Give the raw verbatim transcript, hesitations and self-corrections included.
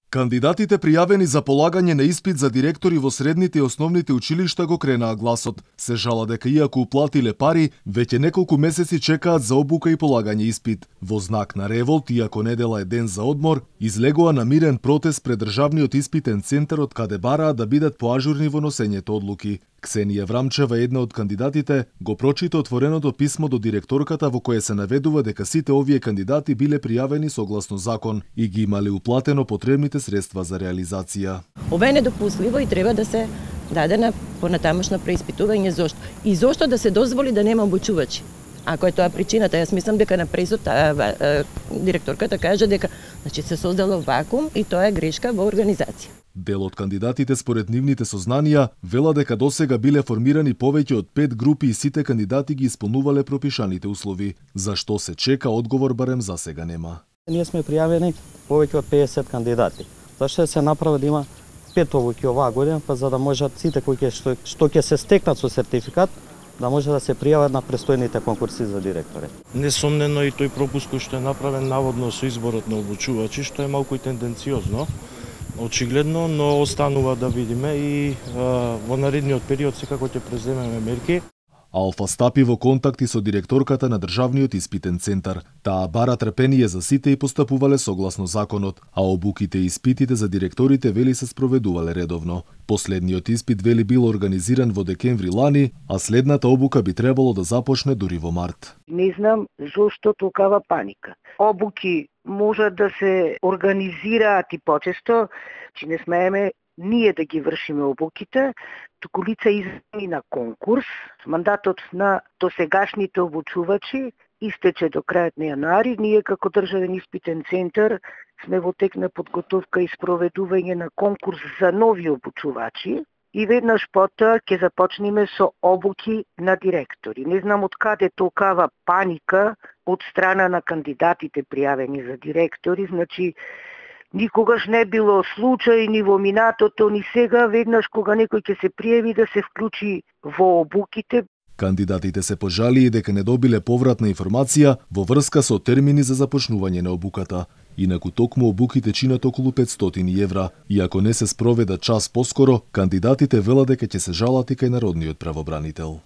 Кандидатите пријавени за полагање на испит за директори во средните и основните училишта го кренаа гласот. Се жала дека иако уплатиле пари, веќе неколку месеци чекаат за обука и полагање испит. Во знак на револт, иако недела е ден за одмор, излегува на мирен протест пред државниот испитен центар од каде бараа да бидат поажурни во носењето одлуки. Ксенија Врамчева, една од кандидатите, го прочита отвореното писмо до директорката во кое се наведува дека сите овие кандидати биле пријавени согласно закон и ги имале уплатено потребните средства за реализација. Ова е недопустливо и треба да се даде на понатамошно преиспитување зошто. И зошто да се дозволи да нема обучувачи. Ако е тоа причината, јас мислам дека на презот директорката каже дека значи се создало вакуум и тоа е грешка во организација. Дел од кандидатите според нивните сознанија вела дека досега биле формирани повеќе од пет групи и сите кандидати ги исполнувале пропишаните услови. Зашто се чека одговор барем за сега нема. Ние сме пријавени повеќе од педесет кандидати. Зашто се направи да има пет обуки оваа година, па за да можат сите кои што што ќе се стекнат со сертификат да може да се пријават на престојните конкурси за директори. Несомнено и тој пропуск кој што е направен наводно со изборот на обучувачи, што е малку и тенденциозно, очигледно, но останува да видиме и а, во наредниот период секако ќе преземеме мерки. Алфа стапи во контакти со директорката на државниот испитен центар. Таа бара трпение за сите и постапувале согласно законот, а обуките и испитите за директорите вели се спроведувале редовно. Последниот испит вели бил организиран во декември лани, а следната обука би требало да започне дури во март. Не знам зошто толкава паника. Обуки може да се организираат и почесто, че не смееме ние да ги вршиме обуките, туку лица измени на конкурс. Мандатот на досегашните обучувачи истече до крајот на јануари. Ние како државен испитен центар сме во тек на подготовка и спроведување на конкурс за нови обучувачи и веднаш потоа ќе започнеме со обуки на директори. Не знам од каде толкава паника од страна на кандидатите пријавени за директори, значи никогаш не било случај ни во минатото, ни сега, веднаш кога некој ќе се пријави да се вклучи во обуките. Кандидатите се пожалии дека не добиле повратна информација во врска со термини за започнување на обуката. Инаку токму обуките чинат околу петстотини евра. И ако не се спроведа час поскоро, кандидатите велат дека ќе се жалат и кај народниот правобранител.